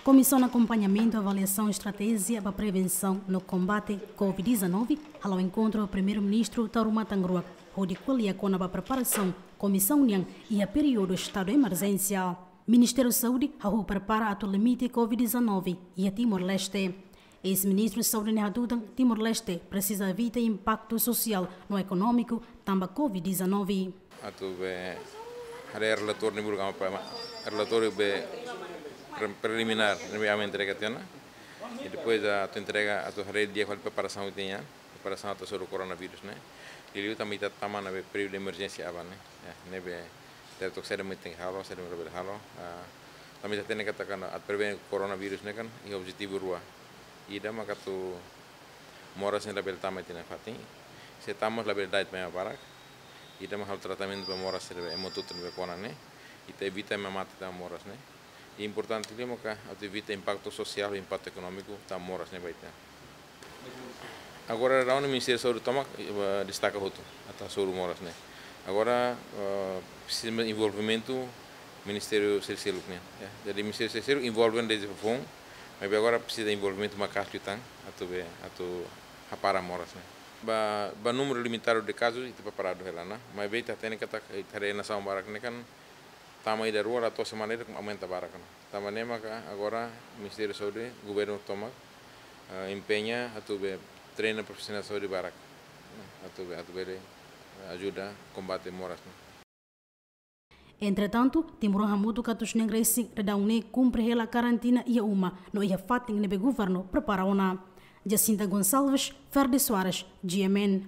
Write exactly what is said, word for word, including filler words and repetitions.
Komisaun Akompañamentu Avaliasaun Estratéjia ba Prevensaun no Kombate Covid dezanove hala'o enkontru ho Primeiru-Ministru Taur Matan Ruak hodi ko'alia kona-ba preparasaun komisaun nian iha períodu estadu emerjénsia. Ministériu Saúde hahú prepara atu limite Covid dezanove iha Timor-Leste. Eis-Ministru Saúde ne'e hatutan Timor-Leste presiza evita impaktu sosiál no ekonómiku tanba Covid dezanove. Atu be haree relatóriu ne'e buruk ama pa relatóriu be pre-, preliminár ne'ebé ama entrega tiha ona. I depois atu entrega atu haree di'ak fali preparasaun ita-nian, preparasaun atu hasoru koronavírus ne'e. Liuliu tanba ita tama ona be períodu emerjénsia aban ne'e. Ya, ne'ebé ita to'o saida mak tenke halo, saida mak labele halo. Ah, tanba ita hatene katak atu prevene koronavírus ne'e kan iha objetivu rua. Ida maka atu moras ne'e labele tama iha ita-nia fatin. Se tama mós labele da'et mai ema barak. Ita mak halo tratamentu ba moras ne'ebé ema hotu-hotu ne'ebé kona ne'e. Ita evita ema mate tanba moras ne'e. I importante liu maka atu evita impaktu sosiál, impaktu ekonómiku tanba moras ne'e ba ita. Agora daudaun Ministériu Saúde tomak, eh, destaka hotu atu hasoru moras ne'e. Agora, eh, presiza envolvimentu ministériu seluk-seluk nian, ya. Jadi ministériu seluk-seluk envolve dezde foun, maibé agora presiza envolvimentu maka'as liután atu be, atu hapara moras ne'e. Ba, ba númeru limitadu de kazus ita preparadu hela ona, maibé ita hatene katak ita haree nasaun barak ne'e kan tama ida rua la to'o semana ida aumenta barak ona. Tanba ne'e maka agora Ministériu Saúde, governu tomak, eh, empeña atu be treina profisionál saúde barak. Atu be, atu bele, eh, ajuda kombate moras ne'e. Entretantu, timoroan hamutuk atus neen resin daudaun ne'e kumpre hela karantina iha uma no iha fatin ne'ebé governu prepara ona. Jacinta Gonçalves, Ferdi Soares, G M N.